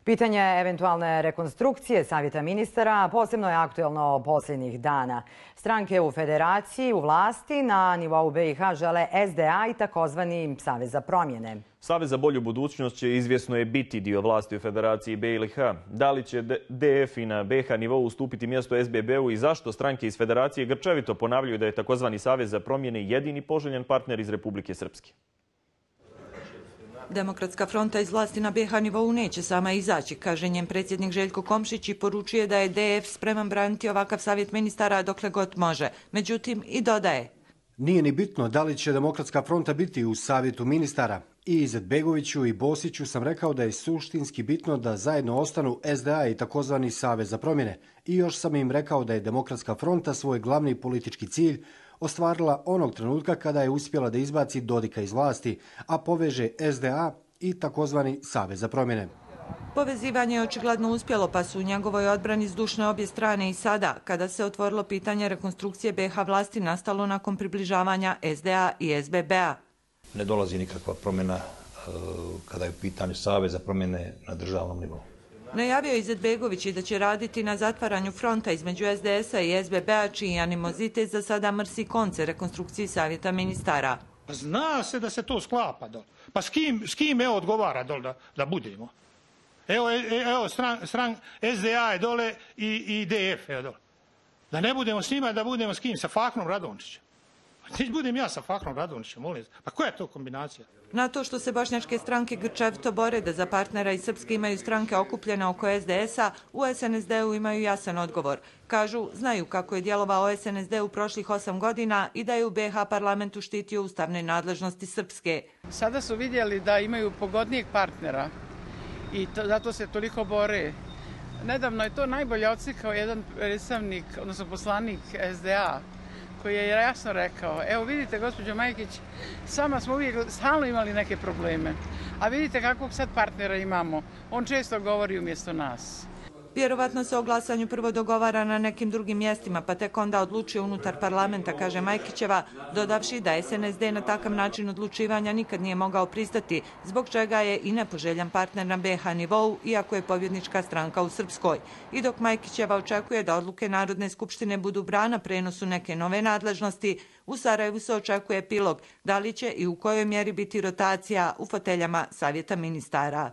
Pitanje eventualne rekonstrukcije Savjeta ministara posebno je aktuelno posljednjih dana. Stranke u federaciji, u vlasti, na nivou BiH žele SDA i takozvani Savez za promjene. Savez za bolju budućnost će izvjesno je biti dio vlasti u federaciji BiH. Da li će DF i na BiH nivou ustupiti mjesto SBB-u i zašto stranke iz federacije grčevito ponavljaju da je takozvani Savez za promjene jedini poželjen partner iz Republike Srpske? Demokratska fronta iz vlasti na BiH nivou neće sama izaći, kaže njen predsjednik Željko Komšić i poručuje da je DF spreman braniti ovakav savjet ministara dokle god može. Međutim, i dodaje. Nije ni bitno da li će Demokratska fronta biti u savjetu ministara. I Izetbegoviću i Bosiću sam rekao da je suštinski bitno da zajedno ostanu SDA i takozvani Savez za promjene. I još sam im rekao da je Demokratska fronta svoj glavni politički cilj ostvarila onog trenutka kada je uspjela da izbaci Dodika iz vlasti, a poveže SDA i takozvani Savez za promjene. Povezivanje je očigledno uspjelo, pa su u njegovoj odbrani zdušne obje strane i sada, kada se otvorilo pitanje rekonstrukcije BiH vlasti nastalo nakon približavanja SDA i SBB-a. Ne dolazi nikakva promjena kada je u pitanju Savez za promjene na državnom nivou. Najavio je Izetbegović i da će raditi na zatvaranju fronta između SDS-a i SBB-a, čiji animozitet za sada mrsi konce rekonstrukciji savjeta ministara. Zna se da se to sklapa dole. Pa s kim evo odgovara dole da budemo? Evo SDA je dole i DF je dole. Da ne budemo s njima, da budemo s kim? Sa Fahrom Radončićem. Neće budem ja sa Fahrom Radončićem, molim. Pa koja je to kombinacija? Na to što se bošnjačke stranke grčevito bore da za partnera iz Srpske imaju stranke okupljene oko SDS-a, u SNSD-u imaju jasan odgovor. Kažu, znaju kako je djelovao SNSD u prošlih 8 godina i da je u BiH parlamentu štitio ustavne nadležnosti Srpske. Sada su vidjeli da imaju pogodnijeg partnera i zato se toliko bore. Nedavno je to najbolje odslikao jedan predstavnik, odnosno poslanik SDA, koji je jasno rekao, evo vidite gospođo Majkić, sama smo uvijek stalno imali neke probleme, a vidite kakvog sad partnera imamo, on često govori umjesto nas. Vjerovatno se o glasanju prvo dogovara na nekim drugim mjestima, pa tek onda odlučuje unutar parlamenta, kaže Majkićeva, dodavši da SNSD na takav način odlučivanja nikad nije mogao pristati, zbog čega je i nepoželjan partner na BiH nivou, iako je pobjednička stranka u Srpskoj. I dok Majkićeva očekuje da odluke Narodne skupštine budu brana prenosu neke nove nadležnosti, u Sarajevu se očekuje epilog da li će i u kojoj mjeri biti rotacija u foteljama savjeta ministara.